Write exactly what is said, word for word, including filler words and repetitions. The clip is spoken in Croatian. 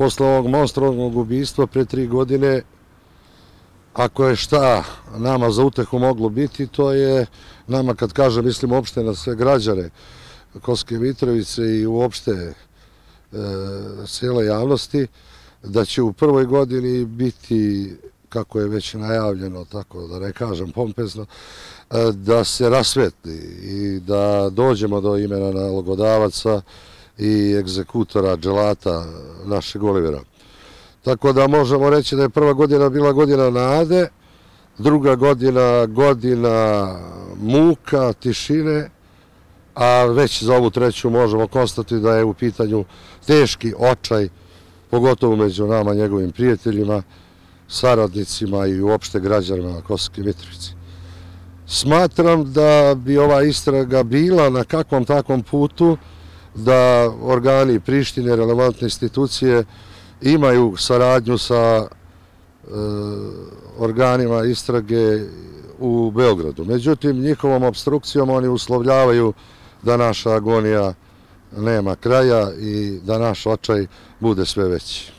posle ovog monstruoznog ubistva pre tri godine, ako je šta nama za utehu moglo biti, to je nama, kad kažem, mislim uopšte na sve građane Kosovske Mitrovice i uopšte cijele javnosti, da će u prvoj godini biti, kako je već najavljeno, tako da ne kažem pompezno, da se rasvetli i da dođemo do imena nalogodavaca i egzekutora, dželata našeg Olivera. Tako da možemo reći da je prva godina bila godina nade, druga godina godina muka, tišine, a već za ovu treću možemo konstatovati da je u pitanju teški očaj, pogotovo među nama, njegovim prijateljima, saradnicima i uopšte građanima Kosovske Mitrovice. Smatram da bi ova istraga bila na kakvom takvom putu da organi Prištine, relevantne institucije, imaju saradnju sa organima istrage u Beogradu. Međutim, njihovom opstrukcijom oni uslovljavaju da naša agonija nema kraja i da naš očaj bude sve veći.